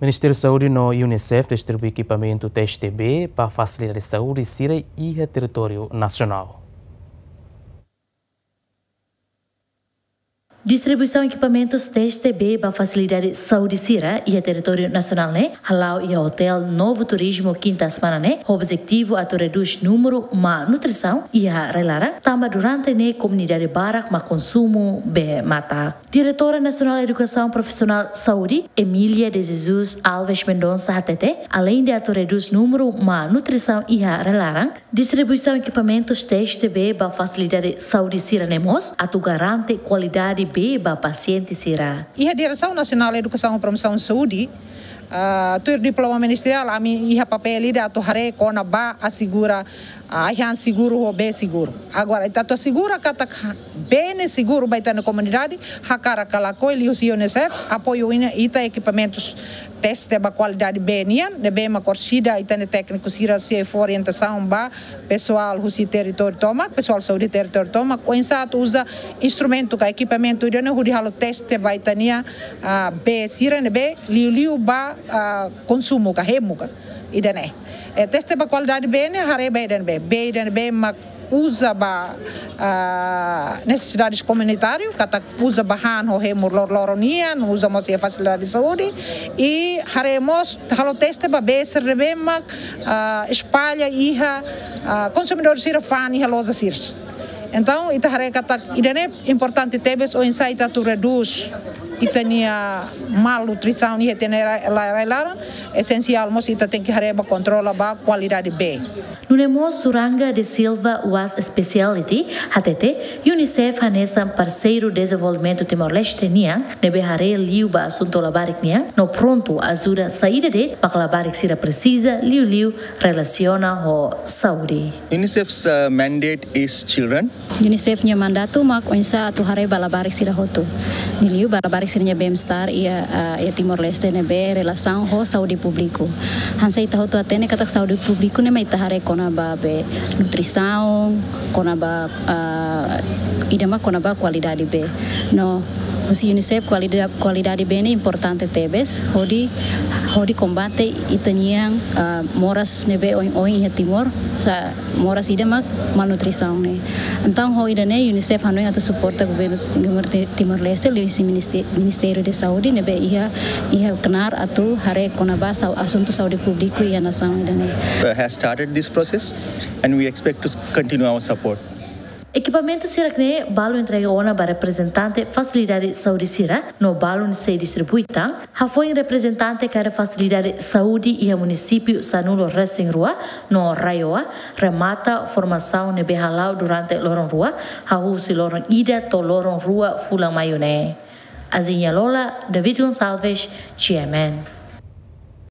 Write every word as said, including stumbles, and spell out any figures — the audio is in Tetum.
Ministériu Saúde no UNICEF distribui ekipamentu teste bee ba fasilidade saúde sira iha territóriu nasionál. Distribuisaun ekipamentus teste bee ba fasilidade saúde sira iha territóriu nasionál ne'e hala'o iha Hotel Novo Turismo kinta semana ne'e, ho objetivu atu redús númeru má nutrisaun iha rai-laran, tanba durante ne'e komunidade barak mak konsumu bee matak. Diretora Nasionál Edukasaun Profisionál Saúde, Emília de Jesus Alves Mendonça hatete, aleinde atu redús númeru má nutrisaun iha rai-laran, distribuisaun ekipamentus teste bee ba fasilidade saúde sira-ne'e mós atu garante kualidade bee ba pasiente sira. Iha Diresaun Nasionál Edukasaun Promosaun Saúde, ah, tuir diploma ministeriál, ami iha papél ida atu haree kona-ba asegura, ah, ai-han seguru ho bee seguru. Agora, ita atu asegura katak bee ne'e seguru ba ita-nia komunidade, hakarak ka lakohi, liuhusi UNICEF apoiu ita ekipamentus teste ba kualidade bee nian, ne'ebé mak orsida ita-nia tékniku sira sei fó orientasaun ba pesoál husi territóriu tomak, pesoál saúde territóriu tomak, oinsá atu uza instrumentu ka ekipamentu ida-ne'e hodi halo teste ba ita-nia, ah, bee sira ne'ebé liuliu ba, ah, konsumu ka hemu ka ida-ne'e. Eh, teste ba kualidade bee ne'e haree ba ida-ne'ebé, bee ida-ne'ebé mak uza ba, ah, nesesidades komunitáriu, katak uza ba han ho hemu lor-, loron nian, uza mós iha fasilidade saúde, i haree mós halo teste ba bee sira ne'ebé mak, ah, espalla iha, ah, konsumidór sira fa'an iha loja sira. Entaun, ita haree katak ida-ne'e importante tebes oinsá ita atu redús ita-nia malnutrisaun iha ita-nia rai-, rai-, rai-laran, esensiál mós ita tenke haree ba kontrola ba kualidade bee. Nune'e mós Suranga de Silva Wash Speciality hatete, UNICEF hanesan parseiru dezenvolvimentu Timor-Leste nian, ne'ebé haree liu ba asuntu labarik nian, no prontu ajuda saida de'it mak labarik sira presiza, liuliu relasiona ho saúde. UNICEF's, uh, mandate is children. UNICEF nia mandatu mak oinsá atu haree ba labarik sira hotu. Liuliu ba labarik sira-nia bem-estar iha, ah, iha Timor-Leste ne'ebé relasaun ho saúde públiku. Hanesan ita hotu hatene katak saúde públiku ne'e mak ita haree kona-ba bee nutrisaun, kona-ba, ah, ida mak kona-ba kualidade bee. No, husi UNICEF kualida-, kualidade bee ne'e importante tebes, hodi, hodi kombate ita-nian, ah, moras ne'ebé oioin iha Timor, sa moras ida mak malnutrisaun ne'e. Entaun, ho ida-ne'e, UNICEF hanoin atu suporta governu, governu Ti-, Timor-Leste, liuhusi Ministe-, Ministériu de Saúde, ne'ebé iha, iha knaar atu haree kona-ba sau-, asuntu saúde públiku iha nasaun ida-ne'e. Uh, has started this process and we expect to s-, continue our support. Ekipamentu sira-ne'e balu entrega ona ba reprezentante fasilidade saúde sira, no balun sei distribui tan, hafoin reprezentante kada fasilidade saúde iha munisípiu sanulu-resin-rua no RAEOA remata formasaun ne'ebé hala'o durante loron rua, hahú husi loron ida to'o loron rua fulan Maiu ne'e. Azinha Lola, David Gonçalves, GMN.